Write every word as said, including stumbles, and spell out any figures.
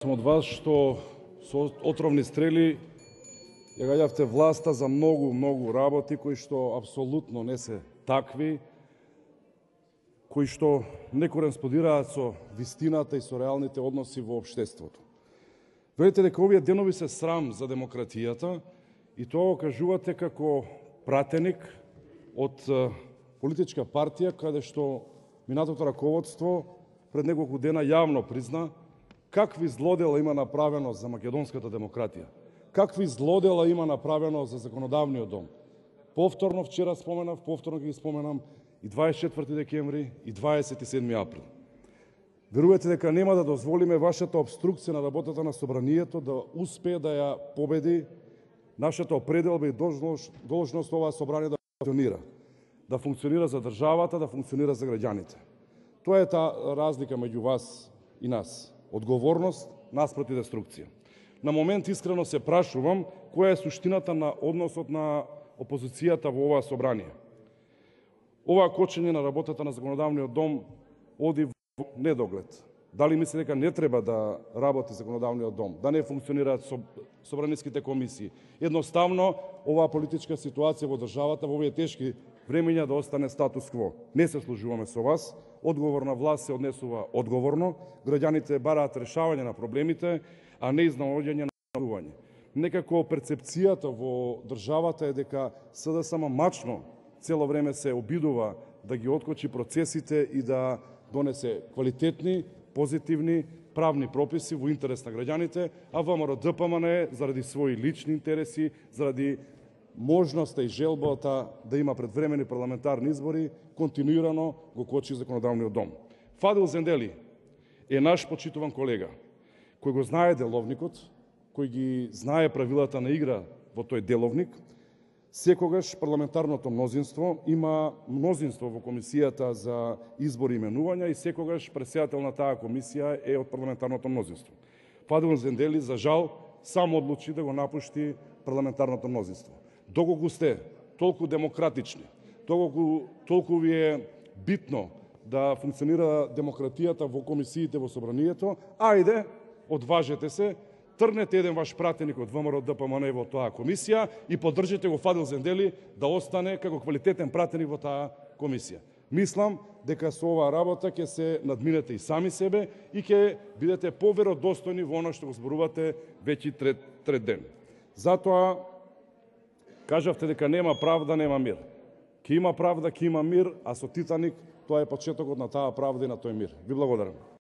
Сум од вас што со отровни стрели ја гаѓавте власта за многу, многу работи кои што апсолутно не се такви, кои што не кореспондираат со вистината и со реалните односи во општеството. Велите дека овие денови се срам за демократијата и тоа го кажувате како пратеник од политичка партија каде што минатото раководство пред неколку дена јавно призна какви злодела има направено за македонската демократија, какви злодела има направено за законодавниот дом. Повторно вчера споменав, повторно ги споменам и дваесет и четврти декември и дваесет и седми април. Верувате дека нема да дозволиме вашата обструкција на работата на собранието да успее да ја победи нашата определба и должност, должност оваа собрание да функционира. Да функционира за државата, да функционира за граѓаните. Тоа е таа разлика меѓу вас и нас. Одговорност наспроти деструкција. На момент искрено се прашувам која е суштината на односот на опозицијата во оваа собрание. Ова кочење на работата на законодавниот дом оди во недоглед. Дали мисли дека не треба да работи законодавниот дом, да не функционираат собраниските комисии? Едноставно, оваа политичка ситуација во државата во овие тешки времења да остане статус кво. Не се служуваме со вас. Одговорна власт се однесува одговорно, граѓаните бараат решавање на проблемите, а не изнаоѓање на најавување. Некако перцепцијата во државата е дека СДСМ мачно цело време се обидува да ги откочи процесите и да донесе квалитетни, позитивни, правни прописи во интерес на граѓаните, а ВМРО-ДПМН заради своји лични интереси, заради можноста и желбата да има предвремени парламентарни избори, континуирано го кочи законодавниот дом. Фадил Зендели е наш почитуван колега, кој го знае деловникот, кој ги знае правилата на игра во тој деловник. Секогаш парламентарното мнозинство има мнозинство во комисијата за избори и именувања и секогаш председател на таа комисија е од парламентарното мнозинство. Фадил Зендели, за жал, само одлучи да го напушти парламентарното мнозинство. Доколку сте толку демократични, толку, толку ви е битно да функционира демократијата во комисиите во собранието, ајде, одважете се, трнете еден ваш пратеник од ВМРО-ДПМН во таа комисија и поддржите го Фадил Зендели да остане како квалитетен пратеник во таа комисија. Мислам дека со оваа работа ќе се надминете и сами себе и ќе бидете поверодостојни во она што го зборувате веќе трет, трет ден. Затоа кажавте дека нема правда, нема мир. Ке има правда, ке има мир, а со Титаник тоа е почетокот на таа правда и на тој мир. Ви благодарам.